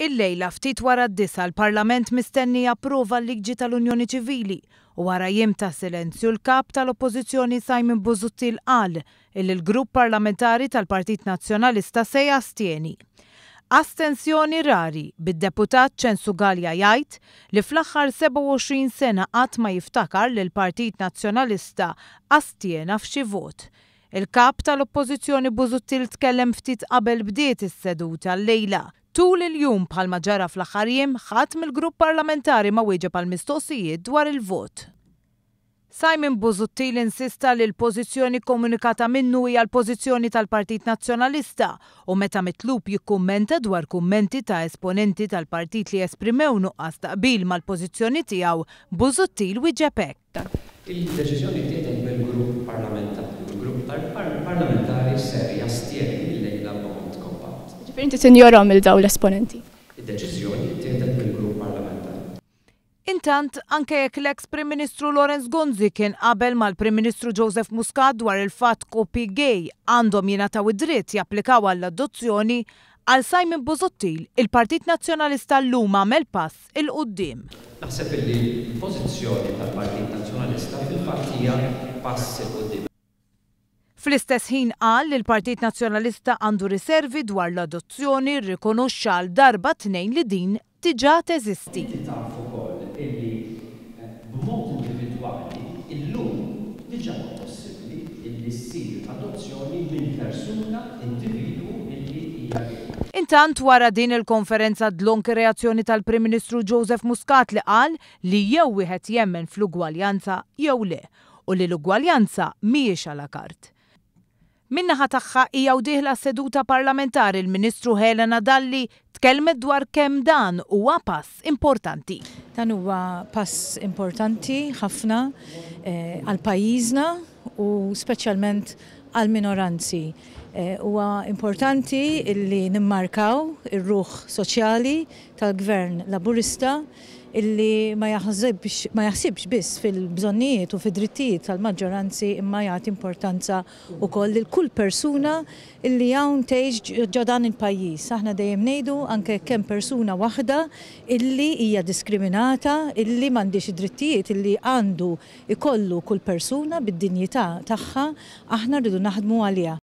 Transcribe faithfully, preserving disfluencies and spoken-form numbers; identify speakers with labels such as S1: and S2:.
S1: Illejla ftit wara d-disgħa l-Parlament mistenni japprova l-liġi tal-Unjoni Ċivili u wara jiem ta' silenzju l-kap tal-Oppożizzjoni Simon Busuttil qal illi l-grupp parlamentari tal-Partit Nazzjonalista se jastjeni. Astensjoni rari bid-deputat Ċensu Galea jgħid li fl-aħħar sebgħa u għoxrin sena qatt ma jiftakar li l-Partit Nazzjonalista astjena f'xi vot. Il-kap tal-Oppożizzjoni Busuttil tkellem ftit qabel bdiet is-seduta llejla. Tul il-jum bħalma ġara fl-aħħar jiem, ħadd mill-grupp parlamentari ma wieġeb għal mistoqsijiet dwar il-vot. Simon Busuttil insista li l-pożizzjoni komunikata minnu hija l-pożizzjoni tal-Partit Nazzjonalista u meta mitlub jikkummenta dwar kummenti ta' esponenti tal-partit li esprimew nuqqas ta' qbil mal-pożizzjoni tiegħu, Busuttil wieġeb hekk.
S2: Il-deċiżjoni ttieħdet mill-grupp parlamentari. Il-grupp parlamentari ser jastjeni llejla b'mod kompatt.
S3: Ġifieri inti tinjorhom il dawn l-esponenti?
S2: Id-deċiżjoni ttieħdet mill-grupp parlamentari.
S1: Intant, anke jekk l-ex Prim Ministru Lawrence Gonzi kien qabel mal-Prim Ministru Joseph Muscat dwar il-fatt koppji gay għandhom jingħataw id-dritt japplikaw għall-adozzjoni, għal Simon Busuttil il-Partit Nazzjonalista llum għamel pass 'il quddiem.
S2: Naħseb illi l-pożizzjoni tal-Partit Nazzjonalista fil-fatt hija pass 'il quddiem.
S1: Fl-istess ħin qal li l-Partit Nazzjonalista għandu riservi dwar l-adozzjoni, rrikonoxxa għal darba tnejn li din diġà teżisti.
S2: Inti taf ukoll illi b'mod individwali illum diġà huwa possibbli illi ssir adozzjoni minn persuna individwu illi hija gay.
S1: Intant wara din il-konferenza dlonk reazzjoni tal-Prim Ministru Joseph Muscat li qal li jew wieħed jemmen fl-ugwaljanza jew le u li l-ugwaljanza mhijiex à la carte. Min-naħa tagħha hija u dieħla seduta parlamentari l-Ministru Helena Dalli tkellmet dwar kemm dan huwa pass importanti.
S4: Dan huwa pass importanti ħafna, eh, għal pajjiżna u speċjalment għal minoranzi. Eh, huwa importanti illi nimmarkaw ir-ruħ soċjali tal-Gvern Laburista illi ma jaħsibx, ma jaħsibx biss fil-bżonnijiet u fid-drittijiet tal-maġġoranzi imma jagħti importanza wkoll lil kull persuna illi hawn tgħix ġo dan il-pajjiż. Aħna dejjem ngħidu anke kemm persuna waħda illi hija diskriminata, illi m'għandix id-drittijiet illi għandu ikollu kull persuna bid-dinjità tagħha, aħna rridu naħdmu għaliha.